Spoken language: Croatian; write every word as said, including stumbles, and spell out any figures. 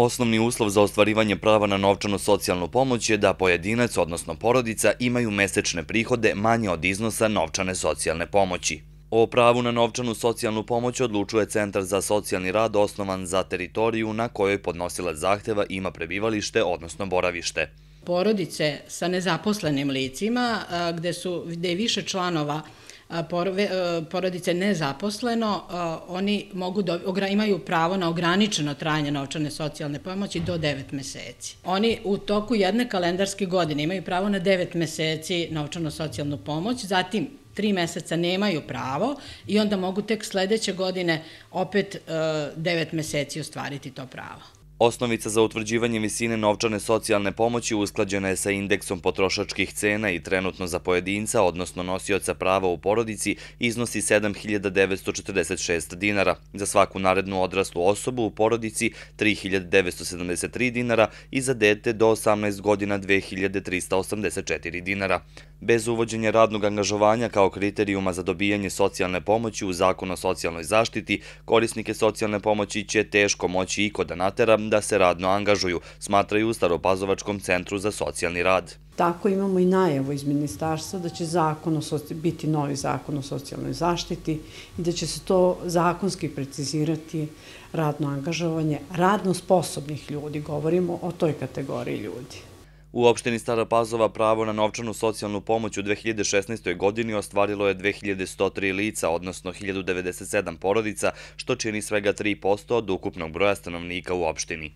Osnovni uslov za ostvarivanje prava na novčanu socijalnu pomoć je da pojedinac, odnosno porodica, imaju mesečne prihode manje od iznosa novčane socijalne pomoći. O pravu na novčanu socijalnu pomoć odlučuje Centar za socijalni rad osnovan za teritoriju na kojoj podnosilac zahteva ima prebivalište, odnosno boravište. Porodice sa nezaposlenim licima, gde su, gde je više članova porodice nezaposleno, oni mogu da, imaju pravo na ograničeno trajanje novčane socijalne pomoći do devet meseci. Oni u toku jedne kalendarske godine imaju pravo na devet meseci novčanu socijalnu pomoć, zatim tri meseca nemaju pravo i onda mogu tek sledeće godine opet devet meseci ostvariti to pravo. Osnovica za utvrđivanje visine novčane socijalne pomoći usklađena je sa indeksom potrošačkih cena i trenutno za pojedinca, odnosno nosioca prava u porodici, iznosi sedam hiljada devetsto četrdeset šest dinara, za svaku narednu odraslu osobu u porodici tri hiljade devetsto sedamdeset tri dinara i za dete do osamnaest godina dve hiljade trista osamdeset četiri dinara. Bez uvođenja radnog angažovanja kao kriterijuma za dobijanje socijalne pomoći u Zakonu o socijalnoj zaštiti, korisnike socijalne pomoći će teško moći iko da natera da se radno angažuju, smatraju u Staropazovačkom centru za socijalni rad. Tako imamo i najavu iz ministarstva da će zakon biti novi zakon o socijalnoj zaštiti i da će se to zakonski precizirati radno angažovanje radno sposobnih ljudi, govorimo o toj kategoriji ljudi. U opštini Stara Pazova pravo na novčanu socijalnu pomoć u dve hiljade šesnaestoj godini ostvarilo je dve hiljade sto tri lica, odnosno hiljadu devedeset sedam porodica, što čini svega tri posto od ukupnog broja stanovnika u opštini.